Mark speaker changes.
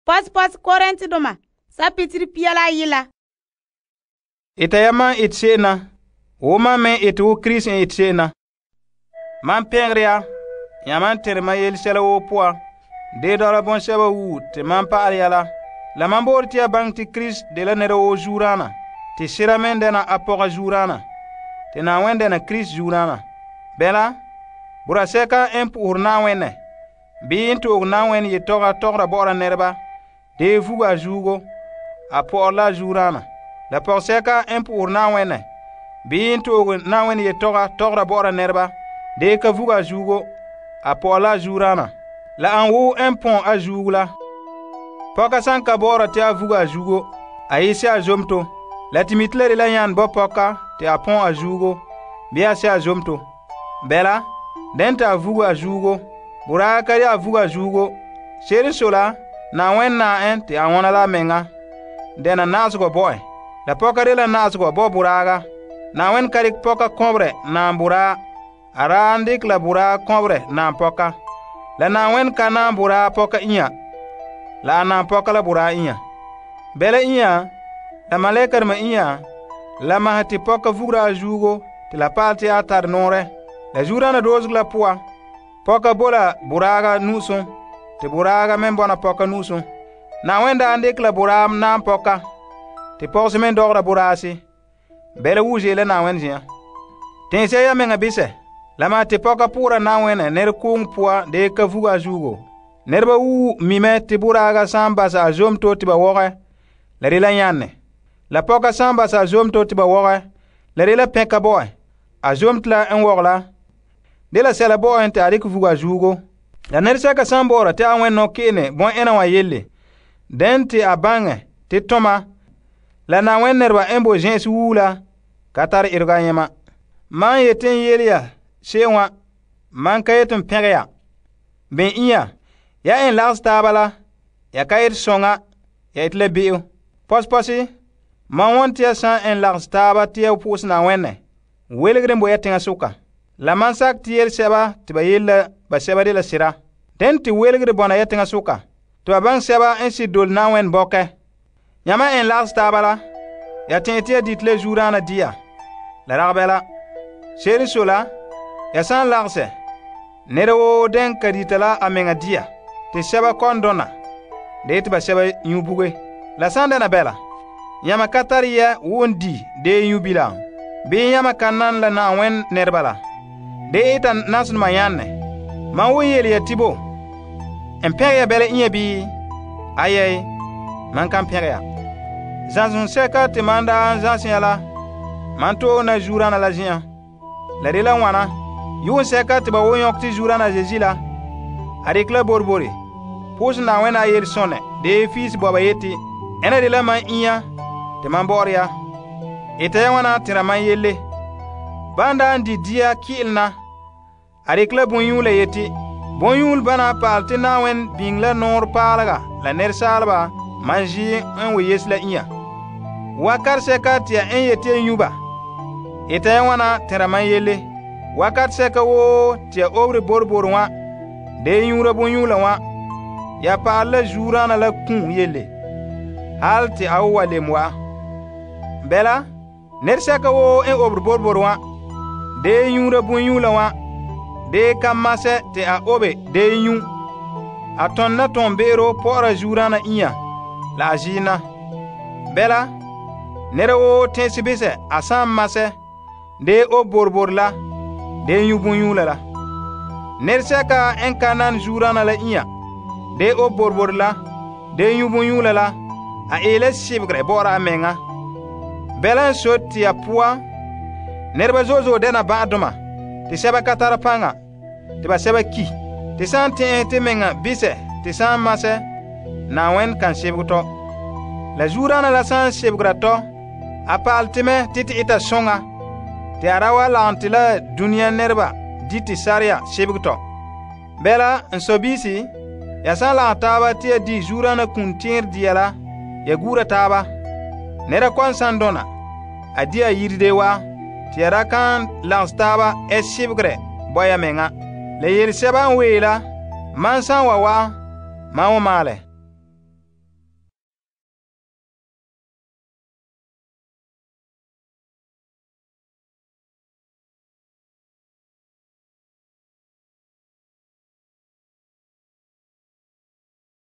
Speaker 1: Pos Korintedoma, sapitiri pia la yila.
Speaker 2: Ita ya man ete se'em na, wo man me ete wo Krista ete se'em na. Man pɛngere ya man tɛnre man yelesɛla woo poan, dee dɔla bɔŋsɛba wuo te man pa'ale ya la man boore te ya baŋɛ te Krista dela nɛra woo zuodaana, te sera me dɛna a pɔga zuodaana, te Na'ayenɛ dɛna Krista zuodaana. Bɛla, bora sɛka n po'ohere Na'ayenɛ, bii n to'oge Na'ayenɛ yetɔga tɔgɔra bɔ'ɔra nɛreba, dee vuga a zuogo, a pɔ'ɔre la a zuodaana. La pɔgɔsɛka n po'ohere Na'ayenɛ, bii n to'oge Na'ayenɛ yetɔga tɔgɔra bɔ'ɔra nɛreba, dee ka vuga a zuogo, a pɔ'ɔre la a zuodaana. La an wo n pɔn a zuogo la. Pɔka san ka bɔ'ɔra te a vuga a zuogo, a yese a zomto. La te mite la de la yan bo pɔka te a pɔn a zuogo, bii a se a zomto. Bɛla, den te a vuga a zuogo, boraa ka de a vuga a zuogo. Se'ere so la, Na'ayenɛ naa en te a wɔna la a meŋa, dɛna na'azegɔ bo en. La pɔka de la na'azegɔ bo boraaga. Na'ayenɛ ka dekɛ pɔka kɔberɛ naam boraa, a raa n dekɛ la boraa kɔberɛ naam pɔka. La Na'ayenɛ ka naam boraa pɔka inya, la a naam pɔka la boraa inya. Bɛla inya, la malɛkadoma inya, la mahɛ te pɔka vugera a zuogo te la paal te a tare nɔɔrɛ. La zuodaana doozegɔ la poan, pɔka bo la boraaga nu'usum, te boraaga me bɔna pɔka nu'usum. Na'ayenɛ daa n dekɛ la boraa naam pɔka, te pɔgese me dɔgɔra boraase. Bɛla wuo ze'ele la Na'ayenɛ zen'an. Tɛɛsɛ ya meŋa bisɛ, la ma te pɔka po'ora Na'ayenɛ nɛrekooŋɔ poan dee ka vuga a zuogo. Nɛreba wuo mi mɛ te boraaga sa'an basa a zomto te ba wɔgɛ, la de la yanne. La pɔka sa'an basa a zomto te ba wɔgɛ, la de la pɛnka bo en. A zomto la n wɔgɛ la, de la sɛla bo en te a dikɛ vuga a zuogo. La nɛresɛka sa'an bɔ'ɔra te a wɛn nɔkpe'ene bɔ'ɛna wa yelle, den te a baŋɛ te tɔma la Na'ayenɛ nɛreba n bo zen'ense wuo la ka tare erega a yɛma. Man yete n yele ya se'em wa, man ka yete n pɛngɛ ya. Ben inya, ya en lagos taaba la, ya ka yete sɔŋa, ya ete la be'em. Pɔspɔsi, man wɔn te ya sa'an en lagos taaba te ya po'ose Na'ayenɛ, welegere n bo ya teŋa soka. La man sak te yele sɛba te ba yele la ba sɛba de la sera. Den te welegere bɔna ya teŋa soka, te ba baŋɛ sɛba n si dole Na'ayenɛ bɔkɛ. Yãma en lagos taaba la, ya tɛɛ te ya dite la zuodaana dia, la rag bɛla. Se'ere so la, ya sãn lagsɛ, nɛra woo den ka dita la a meŋa dia, te sɛba kɔn dɔna, de yete ba sɛba nyu buge. La sãn dɛna bɛla, yãma ka tare yɛ won di dee nyu bilam, bii yãma ka nan la Na'ayenɛ nɛreba la, de ita nasonoma yãnne. Man wo yele ya tibo, n pɛgɛ ya bɛla inya bii? Ayɛi, man kan pɛgɛ ya. Zãsem sɛka te man daa n zãsẽ ya la, man to'e na zuodaana la zen'an. La de la wãna, yuun sɛka te ba wo yõk te zuodaana Zezi la, a dekɛ la borbore, pʋʋsɛ Na'ayenɛ a yele sõnɛ, dee fiisi bɔba yeti, ɛna de la man inya te man bɔ'ɔre ya. Eta ya wãna tẽra man yelle. Ban daa n di dia ki'ilem na, a dekɛ la bõn-yũu la yeti, bõn-yũul bana paal te Na'ayenɛ biŋe la nɔɔrɛ paalega la nɛresaalba man zi n we yes la inya. Wakat sɛka te ya n yeti ya nyu ba, eta ya wãna tẽra man yelle. Wakat sɛka woo te ya obere borbor wã, dee yũura bõn-yũula wã, ya paal la zuodaana la kũu yelle, hal te a wa lem wa'a. Bɛla, nɛresɛka woo n obere borbor wã, dee yũura bõn-yũula wã, dee ka masɛ te a obe dee nyu, a tõnd na tõn-be'ero pɔ'ɔra zuodaana inya la a ziina. Bɛla, nɛra woo tẽese bisɛ a sãn masɛ, dee ob borbor la, dee nyu bõn-yũula la. Nɛresɛka n ka nan zuodaana la inya, dee ob borbor la, dee nyu bõn-yũula la, a eela sebegere bɔ'ɔra a meŋa. Bɛla n sot te ya poan, nɛreba zo'e zo'e dɛna bã'adoma, te sɛba ka tara paŋa, te ba sɛba ki. Te sãn tẽ'ɛ te meŋa bisɛ te sãn masɛ, Na'ayenɛ kan sebege tɔ. La zuodaana la sãn sebegera tɔ, a paal te mɛ te te ita sõŋa, te a ra wa lagem te la dũniyã nɛreba di te sarya sebege tɔ. Bɛla, n sɔbiisi, ya sãn lagem taaba te ya di zuodaana kũun tẽer dia la, ya guura taaba. Nɛra kɔn san dɔna, a di a yiride wa, te ya ra kan lags taaba ɛ sebegere bɔ ya meŋa. La yele sɛba n wee la, man san wa wa'a, man wa maalɛ.